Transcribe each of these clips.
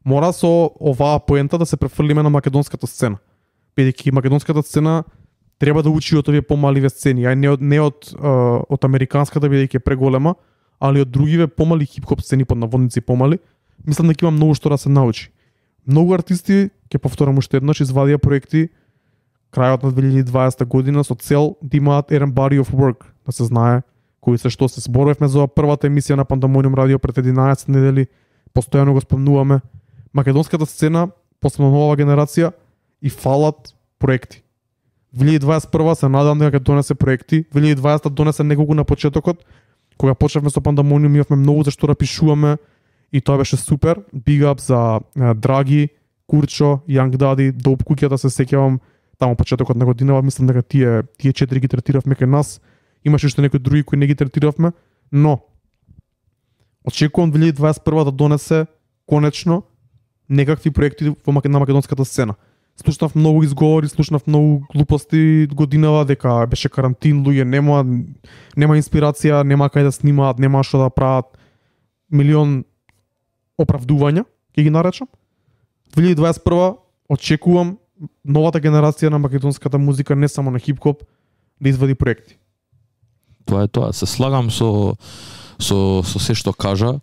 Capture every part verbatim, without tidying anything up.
Мора со оваа поента да се префрлиме на македонската сцена. Бидејќи македонската сцена треба да учи од овие помаливе сцени, а не од не од од американската бидејќи е преголема, али од другиве помали хип-хоп сцени под наводници помали. Мислам дека има многу што да се научи. Многу артисти, ќе повторам уште еднаш, извадија проекти крајот на две илјади и дваесета година со цел да имаат еден body of work, да се знае кои се што се зборувавме за првата емисија на Пандамониум радио пред единаесет недели, постојано го спомнуваме. Македонската сцена, посебно нова генерација, и фалат проекти. две илјади дваесет и прва се надам дека ќе донесе проекти. две илјади и дваесета донесе неколку на почетокот, кога почнавме со Пандамониум, имавме многу за што да пишуваме и тоа беше супер. Big up за uh, Драги, Курчо, Young Daddy, Доп куќата се сеќавам таму почетокот на годинава, мислам дека тие тие четири ги третиравме кај нас. Имаше уште некои други кои не ги третиравме, но очекувам две илјади и дваесет и прва да донесе конечно некакви проекти во на македонската сцена. Слушнав многу изговори, слушнав многу глупости годинава дека беше карантин, луѓе нема нема инспирација, нема кај да снимаат, нема што да прават. Милион оправдувања, ќе ги наречам. две илјади и дваесет и прва очекувам новата генерација на македонската музика, не само на хип-хоп, да извади проекти. Тоа е тоа. Се слагам со со со се што кажа.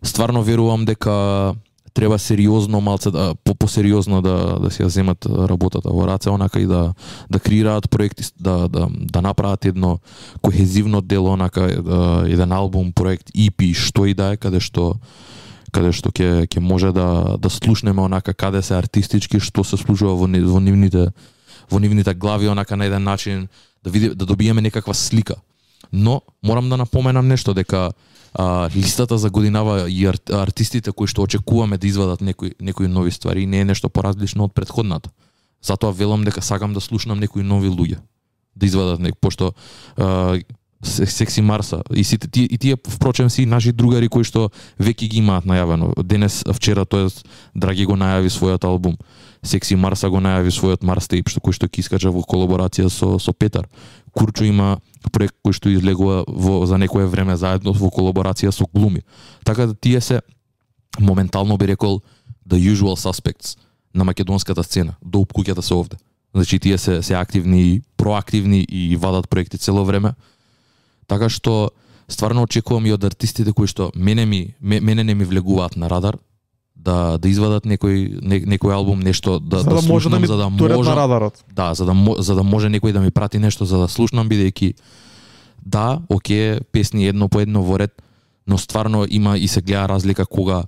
Стварно верувам дека треба сериозно малце да по посериозно да да си ја земат работата во раце, онака и да да креираат проекти, да да да направат едно кохезивно дело, онака да, еден албум, проект, и пи, што и да е, каде што каде што ќе ќе може да да слушнеме онака каде се артистички, што се случува во во нивните во нивните глави, онака на еден начин да види да добиеме некаква слика. Но морам да напоменам нешто, дека а, листата за годинава и ар, артистите кои што очекуваме да извадат некои некои нови ствари не е нешто поразлично од претходната. Затоа велам дека сакам да слушнам некои нови луѓе да извадат нек, пошто а, Секси Марса и сите тие и тие впрочем си наши другари кои што веќе ги имаат најавено. Денес, вчера, тоест Драги го најави својот албум. Секси Марса го најави својот Марс Tape, што кој што ќе искача во колаборација со со Петар. Курчо има проект кој што излегува во за некое време заедно во колаборација со Глуми. Така да тие се моментално би рекол the usual suspects на македонската сцена. Доп куќата се овде. Значи тие се се активни, проактивни и вадат проекти цело време. Така што стварно очекувам и од артистите кои што мене ми мене не ми влегуваат на радар да да извадат некој не, некој албум, нешто да за да, да слушнам, може за да може може на радарот. Да, за да за да може некој да ми прати нешто за да слушнам, бидејќи да, оке, песни едно по едно во ред, но стварно има и се гледа разлика кога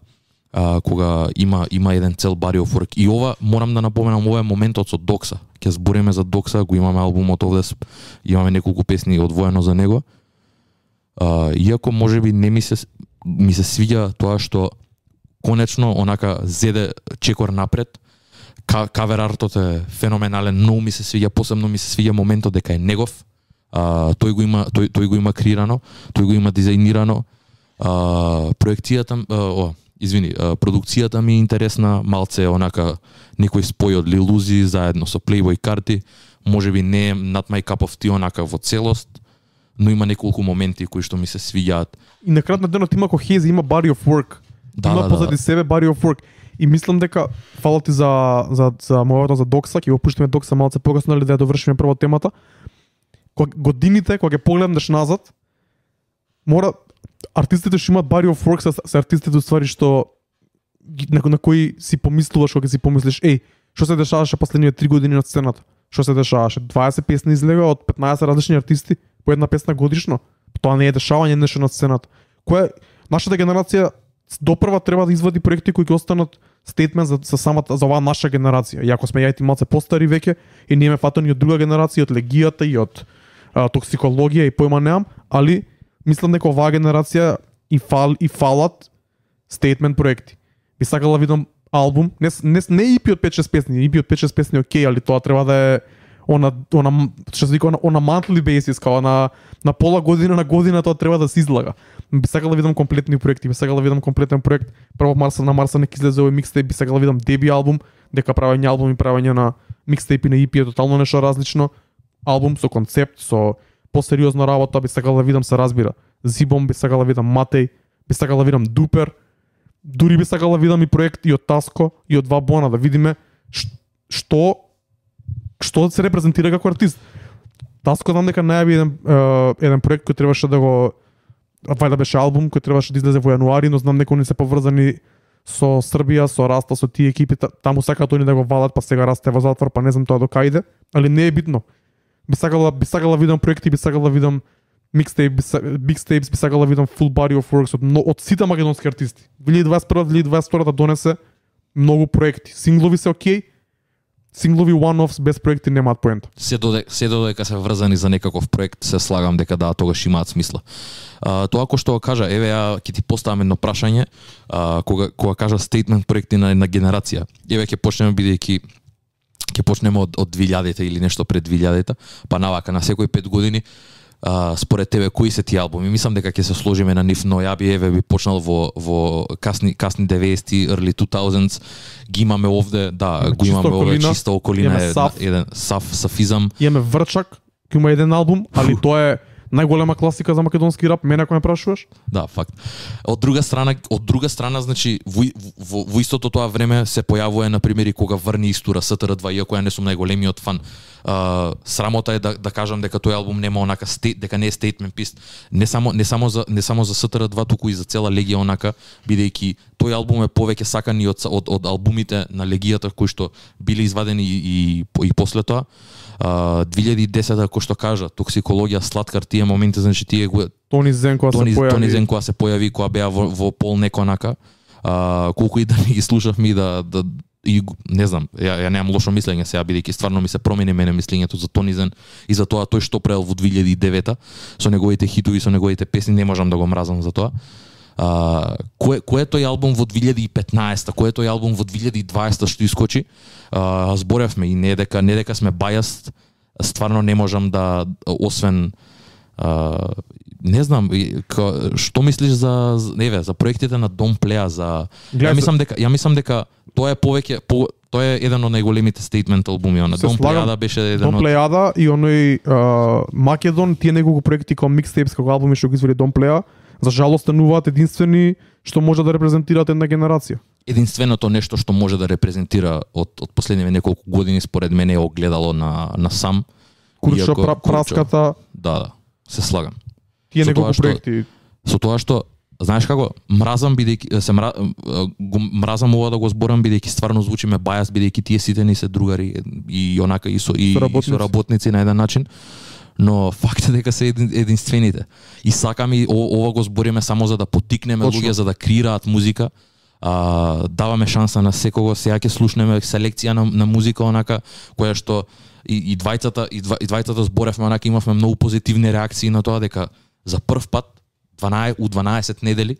а, кога има има еден цел body of work. И ова морам да напоменам, ова е моментот со Докса. Ќе збориме за Докса, го имаме албумот овде, имаме неколку песни одвоено за него. Uh, иако можеби не ми се ми се свиѓа тоа што конечно онака зеде чекор напред. Кавер артот е феноменален, но ми се свиѓа, посебно ми се свиѓа моментот дека е негов. Uh, тој го има тој тој го има креирано, тој го има дизајнирано. Uh, проекцијата uh, о, извини, uh, продукцијата ми е интересна, малце онака некој спој од Lil Uzi заедно со Playboy Carti. Можеби не е not my cup of tea онака во целост, но има неколку моменти кои што ми се свиѓаат. И на крајот на денот има кохезија, има body of work. Да, има да, позади да. себе body of work. И мислам дека фала ти за за за мојата за Докса, ќе го пуштиме Докса малце погасно, или да ја довршиме прво темата. Кога годините, кога ќе погледнеш назад, мора артистите што имаат body of work се, се артистите ствари што на, на кои си помислуваш кога си помислиш, еј, што се дешаваше последниве три години на сцената? Што се дешаваше? дваесет песни излега од петнаесет различни артисти по една песна годишно. Тоа не е дешавање нешто на сцената. Која нашата генерација допрва треба да извади проекти кои ќе останат стейтмент за, за самата за оваа наша генерација. Иако сме јајти малце постари веќе и не ме фатани од друга генерација, од легијата и од а, токсикологија и појма неам, али мислам дека оваа генерација и фал и фалат стейтмент проекти. Би сакала да видам албум, не не не и пи од пет-шест песни, и пи од пет-шест песни окей, али тоа треба да е она она што се вика она, она monthly basis, као на на пола година на година тоа треба да се излага. Би сакала да видам комплетни проекти, би сакала да видам комплетен проект. Прво Марса на Марса не излезе овој микстейп, би сакала да видам деби албум, дека правење албум и правење на микстейп и на и пи е тотално нешто различно. Албум со концепт, со посериозна работа, би сакала да видам, се разбира. Зибом би сакала да видам Матеј, би сакала да видам Дупер. дури би сакала видам и проект и од Таско и од Вабона да видиме што што се репрезентира како артист. Таско знам дека најави еден е, еден проект кој требаше да го вајда беше албум кој требаше да излезе во јануари, но знам дека они се поврзани со Србија, со Раста, со тие екипи, таму сакаат они да го валат, па сега Раста е во затвор, па не знам тоа до кај иде, али не е битно. Би сакала би сакала видам проекти, би сакала видам микстейп, микстейпс, би сакала видам full body of works од, од сите македонски артисти. две илјади дваесет и прва - две илјади дваесет и втора да донесе многу проекти. Синглови се окей, синглови one-offs без проекти немаат поента. Се додека се додека се врзани за некаков проект, се слагам дека да, тогаш имаат смисла. А, тоа кој што го кажа, еве ја ќе ти поставам едно прашање, а, кога кога кажа стейтмент проекти на една генерација. Еве ќе почнеме бидејќи ќе почнеме од од две илјадите или нешто пред две илјадите, па навака на секои пет години. Uh, според тебе кои се тие албуми? Мислам дека ќе се сложиме на нив, но ја би еве би почнал во во касни касни деветдесети, early two thousands. Ги имаме овде, да, го имаме овде чиста околина, е саф, еден саф сафизам. Имаме Врчак, кој има еден албум, али тоа е најголема класика за македонски рап, мене ако ме прашуваш. Да, факт. Од друга страна, од друга страна, значи во, во, во истото тоа време се појавува на пример и кога врни Истура С Т Р два, иако ја не сум најголемиот фан. Uh, срамота е да, да кажам дека тој албум нема онака стейт, дека не е statement piece, не само не само за не само за С Т Р два, туку и за цела Легија онака, бидејќи тој албум е повеќе сакан и од од, од албумите на Легијата кои што биле извадени и и, и после тоа. Uh, две илјади и десета, кој што кажа, Токсикологија, Сладкар, тие моменти, значи тие го Тони Зенкова се појави. Тони Зенкова се појави кога беа во, во пол неко онака. Uh, колку и да ми ги слушавме и да, да и не знам, ја, ја немам лошо мислење сега, бидејќи стварно ми се промени мене мислењето за Тони Зен и за тоа тој што правил во две илјади и девета со неговите хитови, со неговите песни, не можам да го мразам за тоа. А, кој кој е тој албум во две илјади и петнаесета, кој е тој албум во две илјади и дваесета што искочи? А, зборевме и не дека не дека сме biased, стварно не можам да освен а, не знам, ка, што мислиш за еве за проектите на Дом Плеа, за ја мислам дека ја мислам дека тоа е повеќе по, тоа е еден од најголемите стейтмент албуми, на Дом Плеада беше еден Дом од Плеада и оној uh, Македон, тие неколку проекти како микстейпс, како албуми што ги извади Дом Плеа, за жалост стануваат единствени што може да репрезентираат една генерација. Единственото нешто што може да репрезентира од од последниве неколку години според мене е огледало на на сам Курчо, пра, Праската. Да, да, се слагам. Тие Со неколку тоа што- проекти. Со тоа што знаеш како мразам бидејќи се мра, го мразам ова да го зборам бидејќи стварно звучиме бајас бидејќи тие сите ни се другари и онака и со и, и Соработници. со работници на еден начин. Но факт е дека се един, единствените. И сакам и о- ова го збориме само за да поттикнеме Точно. луѓе за да креираат музика. А, даваме шанса на секого, сега ќе слушнеме селекција на, на музика онака која што и, и двајцата и, два, и двајцата зборевме онака, имавме многу позитивни реакции на тоа дека за прв пат дванаесет у дванаесет недели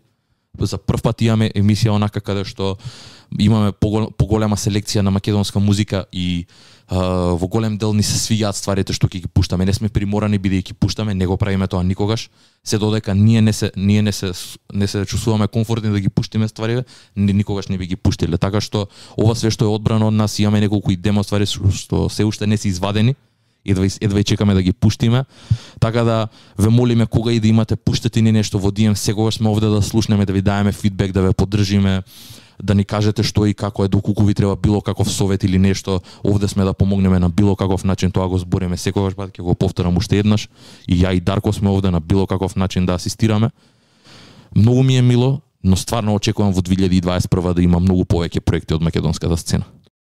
за прв пат имаме емисија онака каде што имаме погол, поголема селекција на македонска музика и а, во голем дел ни се свиѓаат стварите што ќе ги пуштаме. Не сме приморани бидејќи пуштаме, не го правиме тоа никогаш. Се додека ние не се ние не се не се чувствуваме комфортни да ги пуштиме стварите, ни, никогаш не би ги пуштиле. Така што ова све што е одбрано од нас, имаме неколку и демо ствари што се уште не се извадени. Едва, едва и чекаме да ги пуштиме. Така да ве молиме кога и да имате пуштете ни нешто во Ди Ем, секогаш сме овде да слушнеме, да ви даеме фидбек, да ве поддржиме, да ни кажете што и како е, доколку ви треба било каков совет или нешто, овде сме да помогнеме на било каков начин, тоа го збориме секогаш, па ќе го повторам уште еднаш. И ја и Дарко сме овде на било каков начин да асистираме. Многу ми е мило, но стварно очекувам во две илјади и дваесет и прва да има многу повеќе проекти од македонската сцена.